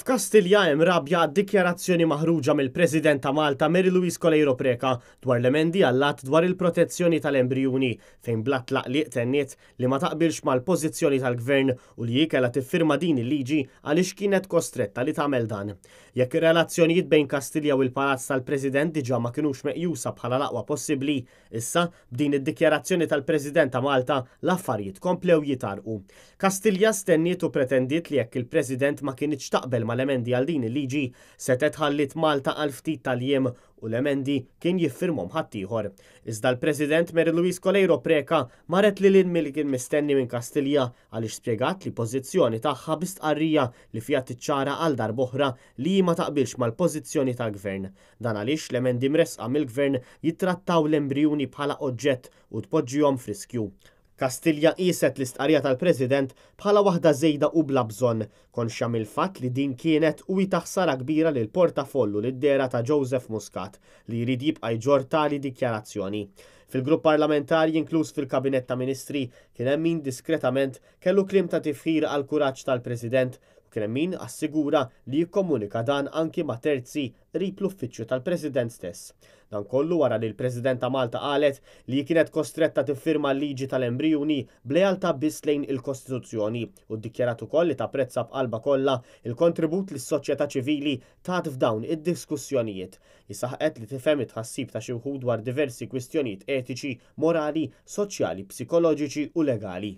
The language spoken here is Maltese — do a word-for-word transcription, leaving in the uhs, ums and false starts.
F'Kastilja hemm rabja għad-dikjarazzjoni maħruġa mill-President ta' Malta Mary Louise Coleiro Preca dwar l-emendi għall-att dwar il-protezzjoni tal-embrijuni, fejn bla tlaqliq tenniet li ma taqbilx mal-pożizzjoni tal-Gvern u li hi kellha tiffirma din il-liġi għaliex kienet kostretta li tagħmel dan. Jekk ir-relazzjonijiet bejn Kastilja u l-Palazz tal-President diġà ma kinux meqjusa bħala l-aqwa possibbli, issa b'din id-dikjarazzjoni tal-President ta' Malta l-affarijiet komplew jitarqu. Kastilja stenniet u pretendiet li jekk il-President ma kinitx taqbel mal-emendi għal din il-liġi, setgħet ħalliet Malta għal ftit tal-jiem u l-emendi kien jiffirmhom ħaddieħor. Iżda l-President Mary Louise Coleiro Preca marret lil hinn milli kien mistenni minn Kastilja, għaliex spjegat li pożizzjoni tagħha bi stqarrija li fiha tiċċara għal darb'oħra li ma taqbilx mal-pożizzjoni tal-Gvern. Dan għaliex l-emendi mresqa mill-Gvern jittrattaw l-embrijuni bħala oġġett u tpoġġihom f'riskju. Kastilja qiset l-istqarrija tal-President bħala waħda żejda u bla bżonn, konxja mill-fatt li din kienet u ta' ħsara kbira lil portafollu lid-dehra ta' Joseph Muscat li jrid jibqa' jġorr tali dikjarazzjoni. Fil-grupp parlamentari, inkluż fil-Kabinett ta' Ministri, kien hemm min diskretament kellu kliem ta' tifħir għal kuraġġ tal-President u kien hemm min assigura li jikkomunika dan anki ma' terzi qrib l-uffiċċju tal-President stess. Dan kollu wara li l-President ta' Malta qalet li kienet kostretta tiffirma l-liġi tal-embrijuni b'lealtà biss lejn il-Kostituzzjoni u ddikjarat ukoll li tapprezza b'qalba kollha il-kontribut li s-soċjetà ċivili tat f'dawn id-diskussjonijiet. Saħqet li tifhem it-tħassib ta' xi wħud dwar diversi kwistjonijiet etiċi, morali, soċjali, psikoloġiċi u legali.